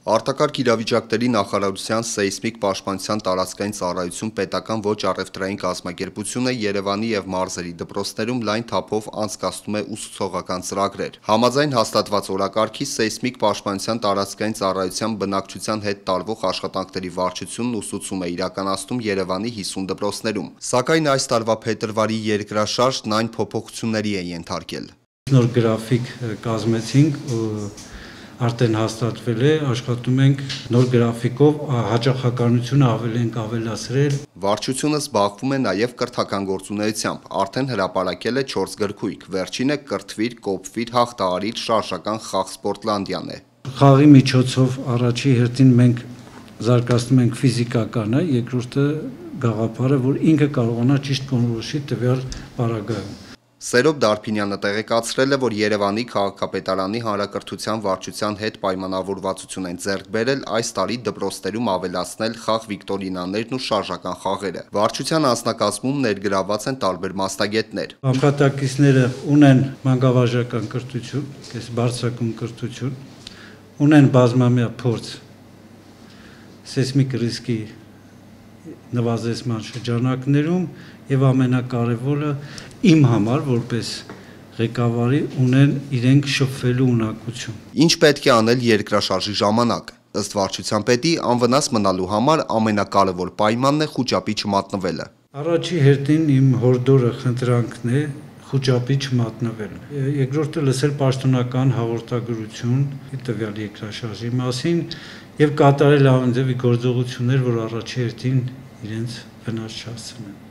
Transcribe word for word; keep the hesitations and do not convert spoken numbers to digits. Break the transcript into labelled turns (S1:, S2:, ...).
S1: Արտակարգ իրավիճակների նախարարության սեյսմիկ պաշտպանության տարածքային ծառայություն պետական ոչ առևտրային կազմակերպությունը Երևանի և մարզերի դպրոցներում լայն թափով անցկացնում է ուսուցողական ծրագրեր։ Համաձայն հաստատված օրակարգի սեյսմիկ պաշտպանության տարածքային ծառայության բնակչության հետ տարվող աշխատանքների վարչությունն ուսուցում է իրականացնում Երևանի հիսուն դպրոցներում։ Սակայն այս տարվա փետրվարի երկրաշարժն այն փոփոխությունների է ենթարկել։
S2: Նոր գրաֆիկ կազմեցինք, արդեն հաստատվել է, աշխատում ենք նոր գրաֆիկով, հաճախականությունը ավելի ենք ավելացրել։
S1: Վարչությունը զբաղվում է նաև կրթական գործունեությամբ, արդեն հրապարակել է չորս գրքույկ, վերջինը «Կրթվիր, կոփվիր, հաղթահարիր» շարժական խաղ Սպորտլանդիան է։
S2: Խաղի միջոցով առաջի հերթին մենք զարգացնում ենք ֆիզիկականը, երկրորդը գաղափարը, որ ինքը կարողանա ճիշտ կողմնորոշի տվյալ պարագայում։
S1: Սերոբ Դարփինյանը տեղեկացրել է, որ Երևանի քաղաքապետարանի հանրակրթության վարչության հետ պայմանավորվածություն են ձեռք բերել այս տարի դպրոցներում ավելացնել խաղ վիկտորինաներն ու շարժական խաղերը։ Վարչության անձնակազմում ներգրավված են տարբեր մասնագետներ։
S2: Աշխատակիցները ունեն մանկավարժական կրթություն, բարձրակուն կրթություն, ունեն բազմամյա փորձ սեյսմիկ ռիսկի նվազեցման շրջանակներում եւ ամենակարևորը իմ համար որպես ղեկավարի ունեն իրենք շփվելու ունակություն։
S1: Ինչ պետք է անել երկրաշարժի ժամանակ։ Ըստ վարչության պետի, անվնաս մնալու համար ամենակարևոր պայմանն է խուճապի չմատնվելը։
S2: Առաջի հերթին իմ հորդորը, խնդրանքն է խուճապի չմատնվել։ Երկրորդը լսել պաշտոնական հաղորդագրություն տվյալ երկրաշարժի մասին եւ կատարել անձևի գործողություններ, որ առաջի հերթին իրենց վնաս չհասցնեն։